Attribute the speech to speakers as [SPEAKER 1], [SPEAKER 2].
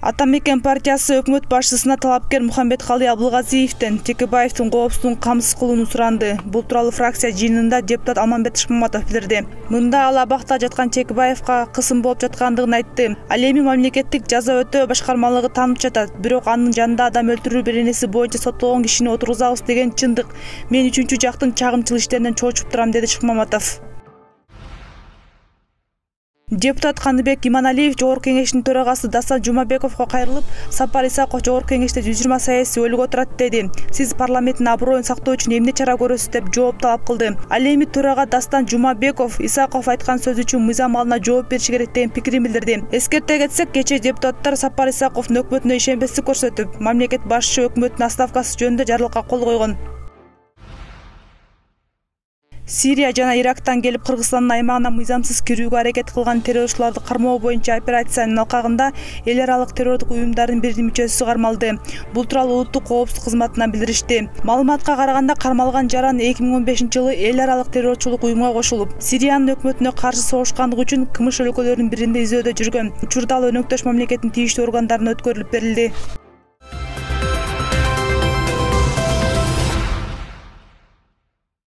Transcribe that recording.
[SPEAKER 1] Ата мекен партиясы өкмөт башчысына талапкер Мухамбеткали Абылгазиевден Текебаевдин коопсуздугун камсыз кылууну суранды. Бул тууралуу фракция жыйынында депутат Алмамбет Шыкмаматов билдирди. Мында ал абакта жаткан Текебаевга кысым болуп жаткандыгын айтты. Ал эми мамлекеттик жаза өтөө башкармалыгы таанып жатат. Бирок анын жанында адам өлтүрүү беренеси боюнча соттолгон кишини отургузабыз деген чындык. Мен үчүнчү жактын чагымчыл иштеринен чочуп турам, деди Шыкмаматов. Депутат Каныбек Иманалиев Жогорку кеңештин төрагасы Дастан Жумабековго кайрылып, Сапар Исаков Жогорку кеңеште 120 саясий өйгө отурат деди. Сиз парламенттин аброюн сактоо үчүн эмне чара көрөсүз деп жооп талап кылды. Ал эми төрага Дастан Жумабеков Исаков айткан сөз үчүн мыйзам алына жооп бериш керек деген пикирин билдирди. Эскерте кетсек, кечээ депутаттар Сапар Исаковдун өкмөтүнө ишенбестик көрсөтүп, мамлекет башчы өкмөттүн отставкасы жөнүндө жарлыкка кол койгон. Сирия жана Ирактан келип Кыргызстандын аймагына мыйзамсыз кирүүгө аракет кылган террорчуларды кармоо боюнча операциянын алкагында эл аралык террордук уюмдардын биринин мүчөсү кармалды. Бул тууралуу улуттук коопсуздук кызматынан билдиришти. Маалыматка караганда кармалган жаран 2015-жылы эл аралык террорчулук уюмга кошулуп, Сириянын өкмөтүнө каршы согушкандыгы үчүн КМШ өлкөлөрүнүн биринде изөөдө жүргөн. Учурда ал өнөктөш мамлекеттин тийиштүү органдарына өткөрүлүп берилди.